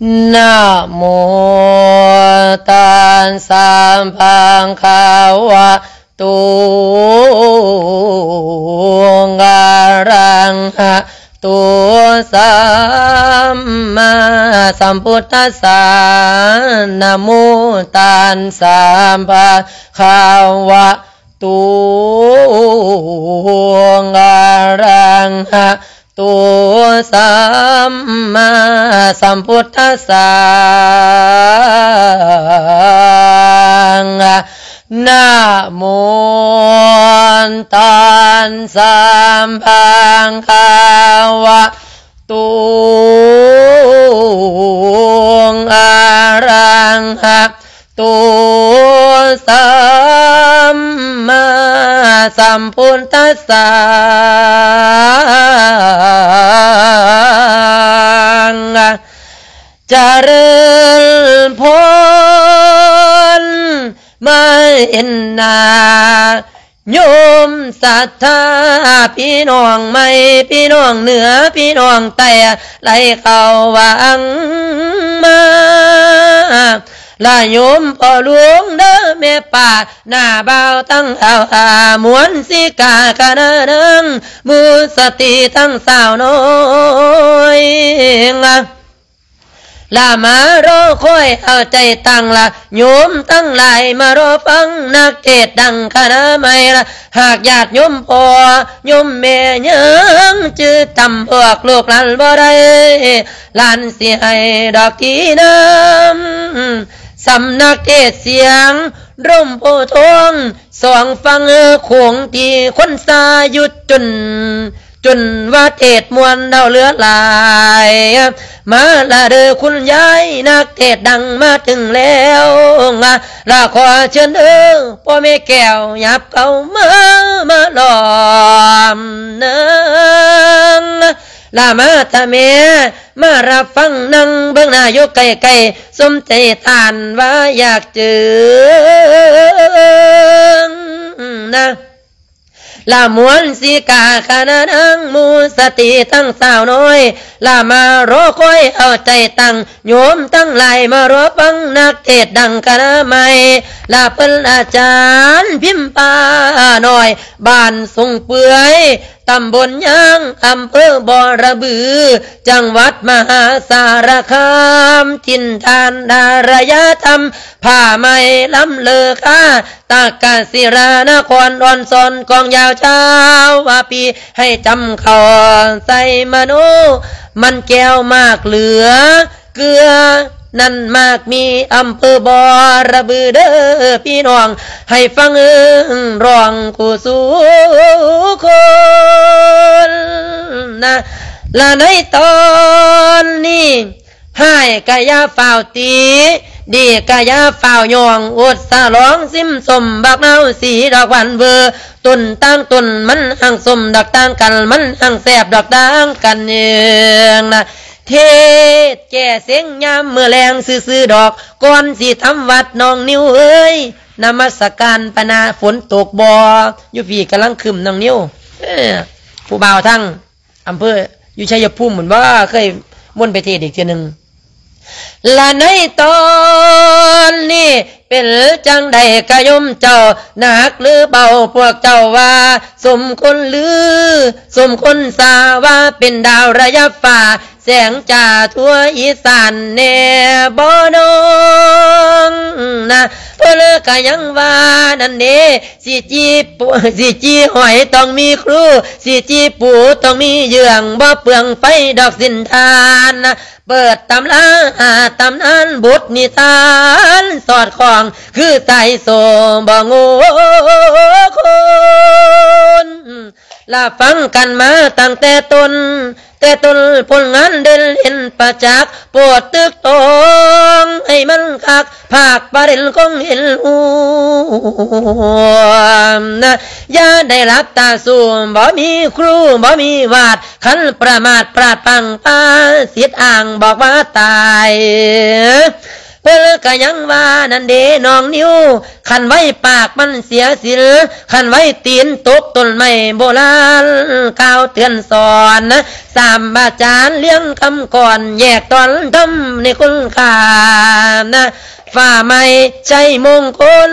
ນະໂມຕັດສະ ພະຄະວະໂຕ ອະລະຫະໂຕ ສຳມາສຳພຸດທັດສະ ນະໂມຕັດສະ ພະຄະວະໂຕ ອະລະຫະໂຕ ສຳມາສຳພຸດທັດສະ ນະໂມຕັດສະ ພະຄະວະໂຕ ອະລະຫະໂຕ ສຳມາສຳພຸດທັດສະ ຈະເລີນພອນ ມາເຫັນໜ້າໂຍມສັດທາ ພີ່ນ້ອງໃໝ່ ພີ່ນ້ອງເໜືອ ພີ່ນ້ອງໃຕ້ ໄຫຼເຂົ້າຫວັງມາ ລະໂຍມພໍ່ຫຼວງເດີແມ່ປ້າ ໜ້າບ່າວທັງອາວອາ ມວນສີກາຄະນະນາງ ໝູ່ສະຕີທັງສາວນ້ອຍ ລະມາລໍຄອຍເອົາໃຈຕັ້ງລະ ໂຍມທັງຫຼາຍມາລໍຟັງນັກເທດດັງຄະນະໃໝ່ລະ ຫາກຍາດໂຍມພໍ່ໂຍມແມ່ຍັງຈື່ຈຳພວກລູກຫຼານບໍ່ໄດ້ ຫຼານຊິໃຫ້ດອກທີ່ນຳ ສຳນັກເທດສຽງລົມໂພທອງ ສອງຝັ່ງໂຂງທີ່ຄົນຊາຢູ່ຈົນ ຈົນວ່າເທດມ່ວນເຮົາເຫຼືອຫຼາຍ ມາລະເດີຄຸນຍາຍ ນັກເທດດັງມາເຖິງແລ້ວ ລະຂໍເຊີນເດີພໍ່ແມ່ແກ້ວ ຫຍັບເຂົ້າມາ ມາລ້ອມເນີ ລະມາທະແມ່ ມາຮັບຟັງນັ່ງເບິ່ງໜ້າຢູ່ໃກ້ໆ ສົມໃຈທ່ານວ່າຢາກເຈີນະ ລະມວນສີກາຄະນະນາງ ໝູ່ສະຕີທັງສາວນ້ອຍ ລະມາລໍຄອຍເອົາໃຈຕັ້ງ ໂຍມທັງຫຼາຍມາລໍຟັງນັກເທດດັງຄະນະໃໝ່ ລະເພິ່ນອາຈານພິມພານ້ອຍ ບ້ານສົງເປືອຍ ຕຳບົນຍາງ ອຳເພີບໍລະບື ຈັງຫວັດມະຫາສາລະຄາມ ຖິ່ນຖານອາລະຍະທຳ ຜ້າໄໝລຳເລີຄາ ຕາກະສິລານະຄອນ ອ່ອນສອນກອງຍາວຊາວວ່າປີ ໃຫ້ຈຳເຂົ້າໃສ່ມະໂນ ມັນແກ້ວໝາກເຫຼືອ ເກືອນັ້ນມາກມີ ອຳເພີບໍລະບືເດີພີ່ນ້ອງ ໃຫ້ຟັງເອີ້ງຮ້ອງຄູ່ສູ່ຄົນນະ ລະໃນຕອນນີ້ ຮ້າຍກະຢ່າຟ້າວຕິ ດີກະຢ່າຟ້າວຍ້ອງ ອົດສະຫຼອງຊິມສົ້ມ ບັກນາວສີດອກຫວານເວີ ຕົ້ນຕ່າງຕົ້ນມັນຮັ່ງສົ້ມ ດອກຕ່າງກັນມັນຮັ່ງແຊບ ດອກຕ່າງກັນເອງນະ ເທດແກ້ເຊັງຍາມມື້ແລງຊື່ໆດອກ ກ່ອນຊິທຳວັດນ້ອງນິວເອີຍ ນະມັດສະການປະນາ ຝົນຕົກບໍ່ ຢູ່ພີ້ກຳລັງຄຶ້ມນ້ອງນິວ ເອີ ຜູ້ບ່າວທັງ ອຳເພີຢູ່ໄຊຍະພູມພຸ້ນບໍ່ ເຄີຍມົນໄປເທດອີກເທື່ອໜຶ່ງ ລະໃນຕອນນີ້ ເປັນຈັ່ງໃດກະໂຍມເຈົ້າ ໜັກຫຼືເບົາ ພວກເຈົ້າວ່າສົມຄົນລື ສົມຄົນຊາ ວ່າເປັນດາວລະຍັບຟ້າ ແສງຈ້າທົ່ວອີສານແດ່ບໍ່ນ້ອງນະ ເພິ່ນກະຍັງວ່ານັ້ນເດ ຊິຈີ່ ຊິຈີ່ຫອຍຕ້ອງມີຄູ ຊິຈີ່ປູຕ້ອງມີເຍືອງ ບໍ່ເປືອງໄຟດອກສິນທານນະ ເປີດຕຳລາ ຕຳນານບົດນິທານ ສອດຄ່ອງຄືສາຍໂສ້ບໍ່ໂງ່ຄົນ ລະຟັງກັນມາຕັ້ງແຕ່ຕົ້ນ ແຕ່ຕົ້ນຜົນງານເດັ່ນເຫັນປະຈັກ ໂປດຕຶກຕອງໃຫ້ມັນຄັກ ພາກປະເດັນຄົງເຫັນຮູ້ນະ ຢ່າໄດ້ຫຼັບຕາສູ້ ບໍ່ມີຄູ ບໍ່ມີວາດ ຄັນປະໝາດພລາດພລັ້ງ ພາສິດອ້າງບອກວ່າຕາຍ ເພິ່ນກະຍັງວ່ານັ້ນເດນ້ອງນິວ, ຄັນໄວ້ປາກມັນເສຍສິນ, ຄັນໄວ້ຕີນຕົກຕົ້ນໄມ້ ໂບລານກ່າວເຕືອນສອນ. ສາມອາຈານລຽງຄຳກອນ ແຍກຕອນທຳໃຫ້ຄຸນຄ່ານະ ຟ້າໃໝ່ໄຊມົງຄົນ.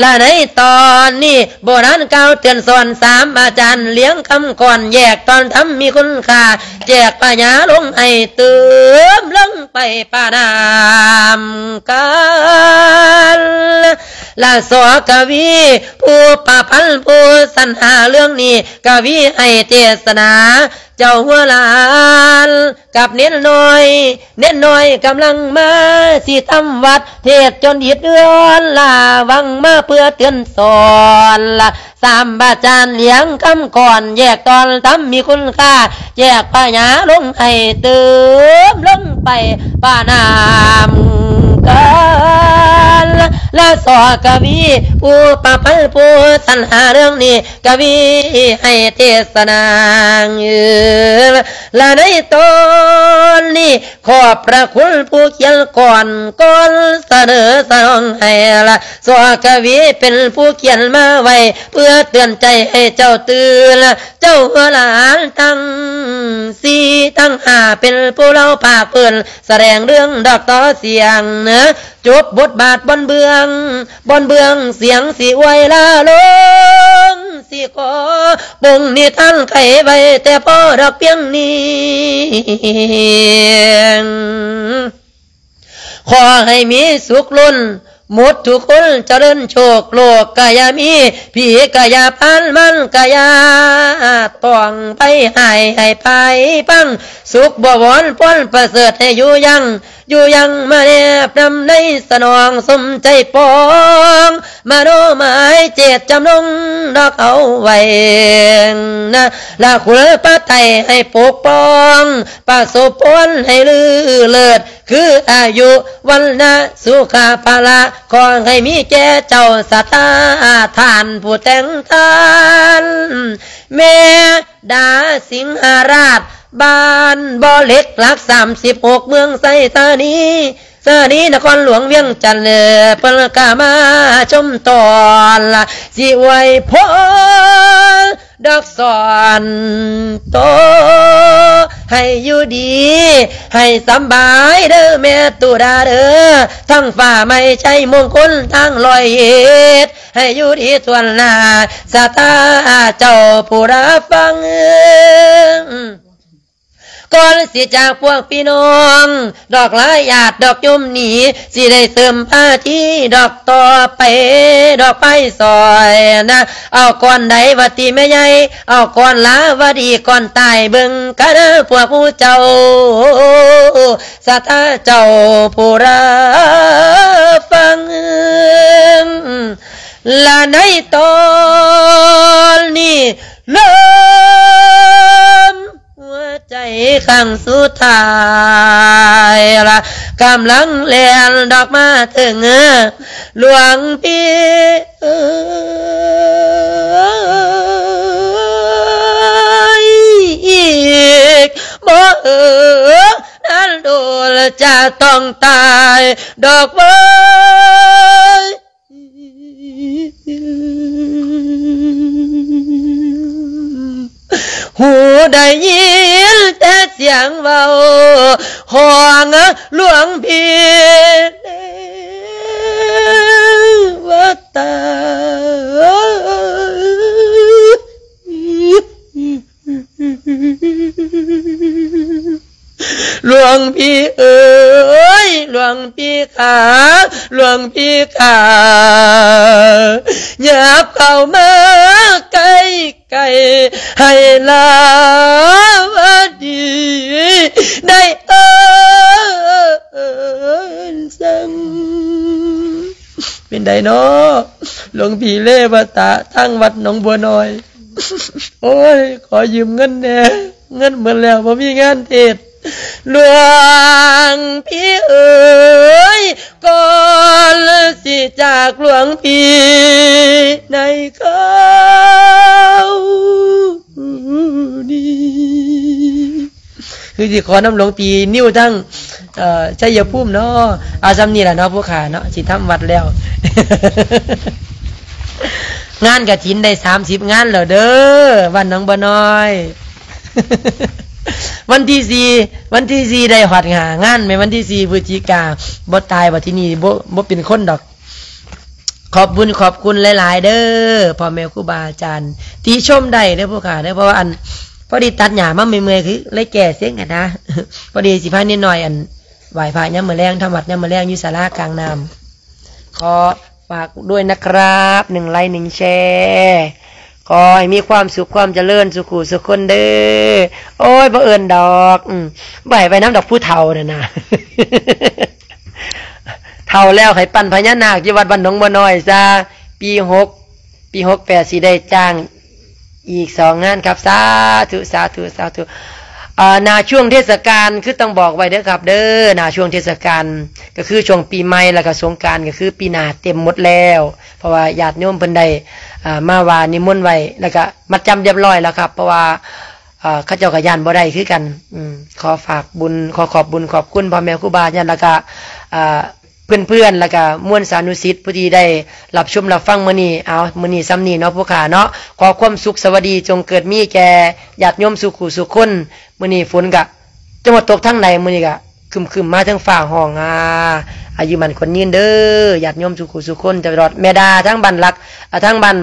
ລະໃນຕອນນີ້ ໂບລານກ່າວເຕືອນສອນ ສາມອາຈານລຽງຄຳກອນ ແຍກຕອນທຳມີຄຸນຄ່າ ແຈກພະຍາລົງໃຫ້ຕື່ມລົງໄປປະນາມກັນ. ລະ ສ ກະວີ ຜູ້ປະພັນ ຜູ້ສັນຫາເລື່ອງນີ້ ກະວີໃຫ້ເທດສະໜາ ເຈົ້າຫົວຫຼານກັບເນນນ້ອຍ, ເນນນ້ອຍກຳລັງມາຊິທຳວັດ ເທດຈົນອິດເຮືອນລາວັງມາເພື່ອເຕືອນສອນ. ລະ ສາມອາຈານລຽງຄຳກອນ ແຍກຕອນທຳມີຄຸນຄ່າ ແຈກພະຍາລົງໃຫ້ຕື່ມລົງໄປປະນາມກັນ. ລະ ສ ກະວີ ຜູ້ປະພັນ ຜູ້ສັນຫາເລື່ອງນີ້ ກະວີໃຫ້ເທດສະໜາ ລະໃນຕອນນີ້ ຂອບພະຄຸນຜູ້ຂຽນກອນ ກ່ອນສະເໜີສະໜອງໃຫ້ລະ ສ ກະວີເປັນຜູ້ຂຽນມາໄວ້ ເພື່ອເຕືອນໃຈໃຫ້ເຈົ້າຕື່ນ ເຈົ້າຫຼານທັງສີ່ທັງຫ້າ ເປັນຜູ້ເລົ່າພາກພື້ນ ສະແດງເລື່ອງດອກຕໍ່ສຽງ ຈົບບົດບາດບ່ອນເບື້ອງ, ບ່ອນເບື້ອງສຽງຊິອວຍລາລົງ, ຊິຂໍປົງນິທານໄຂໄວ້ແຕ່ພໍດອກພຽງນີ້. ຂໍໃຫ້ມີສຸກລົ້ນໝົດທຸກຄົນ, ຈະເລີນໂຊກໂລກກະຢ່າມີ, ຜີກະຢ່າຜ່ານ, ມານກະຢ່າຕ້ອງໄປ, ໃຫ້ ໃຫ້ໄປພັງ, ສຸກບໍວອນພອນປະເສີດ, ໃຫ້ຢູ່ຍັງ ຢູ່ຍັງມາແນບນຳໃນສະໜອງສົມໃຈປອງ ມະໂນໝາຍເຈດຈຳນົງດອກເອົາໄວ້ນະ ລະຄຸນພະໄຕໃຫ້ປົກປ້ອງ ປະສົບພອນໃຫ້ລືເລີດ ຄືອາຍຸວັນນະສຸຂະພະລະ ຂໍໃຫ້ມີແກ່ເຈົ້າສະຕາທ່ານຜູ້ແຕ່ງທ່ານ ແມ່ ດາສິງຫະລາດ ບ້ານບໍ່ເຫຼັກ ຫຼັກສາມສິບຫົກ ເມືອງໄຊທານີ. ທານີນະຄອນຫຼວງວຽງຈັນ ເພິ່ນກະມາຊົມຕ້ອນ ຊິອວຍພອນດອກສອນໂຕ ໃຫ້ຢູ່ດີ ໃຫ້ສຳບາຍເດີແມ່ຕຸດາເດີ ທັງຟ້າໃໝ່ໄຊມົງຄົນ ທັງຮ້ອຍເອັດ ໃຫ້ຢູ່ດີທົ່ວໜ້າ ສາທາເຈົ້າຜູ້ລາຟັງ. ກ່ອນຊິຈາກພວກພີ່ນ້ອງ ດອກຫຼາຍຍາດດອກໂຍມນີ້ ຊິໄດ້ເສີມພາທີດອກຕໍ່ໄປ ດອກໄປຊອຍນະ ເອົາກ່ອນໃດວະຕິແມ່ໃຫຍ່ ເອົາກ່ອນລາວະດີ ກ່ອນຕາຍເບິ່ງກັນເດີພວກໝູ່ເຈົ້າ ສາທາເຈົ້າຜູ້ລາຟັງ ລະໃນຕອນນີ້ ເລີ່ມຫົວໃຈຄັ້ງສຸດທ້າຍລະ ກຳລັງແລ່ນດອກມາເຖິງ ຫຼວງພີ່ເອີຍ ອີກບໍ່ເຫີນນານໂດນຈະຕ້ອງຕາຍດອກເວີຍ. ຫູໄດ້ຍິນແຕ່ສຽງເວົ້າຂອງຫຼວງພີ່ເລວະຕາ. ຫຼວງພີ່ເອີຍ ຫຼວງພີ່ຂ້າ ຫຼວງພີ່ຂ້າ ຫຍັບເຂົ້າມາໃກ້ໆ ໃຫ້ລາວະດີໄດ້ເອີ້ນສັ່ງ. ເປັນໃດນໍ ຫຼວງພີ່ເລວະຕາ ທາງວັດໜອງບົວນ້ອຍ? ໂອ້ຍ ຂໍຢືມເງິນແດ່ ເງິນໝົດແລ້ວ ບໍ່ມີງານເທດ. ຫຼວງພີ່ເອີຍ ກ່ອນຊິຈາກຫຼວງພີ່ໃນຄາວນີ້ ຄືຊິຂໍນຳຫຼວງພີ່ນິວທັງ ເອີ ໄຊຍະພູມເນາະ. ເອົາສ່ຳນີ້ລະເນາະ ຜູ້ຂ້າເນາະ ຊິທຳວັດແລ້ວ. ງານກະຖິນໄດ້ສາມສິບງານແລ້ວເດີ ບ້ານໜອງບົວນ້ອຍ. ວັນທີສີ່ ວັນທີສີ່ໄດ້ຮອດຫ້າງານ ແມ່ນວັນທີສີ່ ພຶສຈິກາ ບໍ່ຕາຍບັດທີນີ້ ບໍ່ ບໍ່ເປັນຄົນດອກ. ຂອບບຸນຂອບຄຸນຫຼາຍໆເດີ ພໍ່ແມ່ຄູບາອາຈານ ຕິຊົມໄດ້ເດີຜູ້ຂ້າເດີ. ເພາະວ່າອັນ ພໍດີຕັດຫຍ້າມາເມື່ອຍໆ ຄືເລີຍແກ້ເສັງຫັ້ນນະ. ພໍດີຊິພານິດໜ້ອຍ ອັນ ໄຫວ້ພະຍາມມື້ແລງ ທຳວັດຍາມມື້ແລງຢູ່ສາລາກາງນ້ຳ. ຂໍຝາກດ້ວຍນະຄຣັບ ໜຶ່ງໄລ ໜຶ່ງແຊ. ຂໍໃຫ້ມີຄວາມສຸກຄວາມຈະເລີນສູ່ຄູ່ສູ່ຄົນເດີ. ໂອ້ຍ ບໍ່ເອີ້ນດອກ ອືມ ບໍ່ໃຫ້ໄປນຳດອກຜູ້ເຖົ້ານັ້ນນະ. ເຖົ້າແລ້ວໃຫ້ປັ້ນພະຍານາກຢູ່ວັດບ້ານໜອງບົວນ້ອຍຊະ. ປີຫົກ ປີຫົກແປດຊິໄດ້ຈ້າງອີກສອງງານຄັບ. ສາທຸ ສາທຸ ສາທຸ. ເອີ ໜ້າຊ່ວງເທດສະການ ຄືຕ້ອງບອກໄວ້ເດີຄັບເດີ ໜ້າຊ່ວງເທດສະການ ກໍຄືຊ່ວງປີໃໝ່ ແລ້ວກໍສົງການ ກໍຄືປີໜ້າເຕັມໝົດແລ້ວ. ເພາະວ່າຍາດໂຍມເພິ່ນໄດ້ ເອີ ມາວ່ານິມົນໄວ້ ແລ້ວກໍມັດຈຳລຽບຮ້ອຍແລ້ວຄັບ ເພາະວ່າ ເອີ ເຂົາເຈົ້າກໍຢ້ານບໍ່ໄດ້ຄືກັນ. ອືມ ຂໍຝາກບຸນ ຂໍຂອບບຸນຂອບຄຸນພໍ່ແມ່ຄູບາອາຈານ ແລ້ວກະ ເອີ ເພື່ອນໆ ແລ້ວກະມວນສານຸສິດ ຜູ້ທີ່ໄດ້ຮັບຊົມຮັບຟັງມື້ນີ້. ເອົາ ມື້ນີ້ສ່ຳນີ້ເນາະ ຜູ້ຂ້າເນາະ. ຂໍຄວາມສຸກສະຫວັດດີຈົ່ງເກີດມີແກ່ຍາດໂຍມສູ່ຄູ່ສູ່ຄົນ. ມື້ນີ້ຝົນກະຈະມາຕົກທາງໃດ ມື້ນີ້ກະຄຶ້ມໆ ມາເທິງຟ້າຮ້ອງ. ອາ ອາຍຸໝັ້ນຂວັນຍືນເດີ ຍາດໂຍມສູ່ຄູ່ສູ່ຄົນ. ຕະຫຼອດແມ່ດາ ທາງບ້ານຫຼັກ ອາ ທາງບ້ານ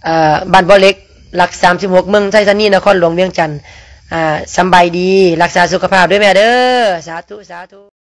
ເອີ ບ້ານບໍ່ເຫຼັກ ຫຼັກສາມສິບຫົກ ເມືອງໄຊທານີ ນະຄອນຫຼວງວຽງຈັນ. ອາ ສຳບາຍດີ ຮັກສາສຸຂະພາບເດີແມ່ເດີ. ສາທຸ ສາທຸ.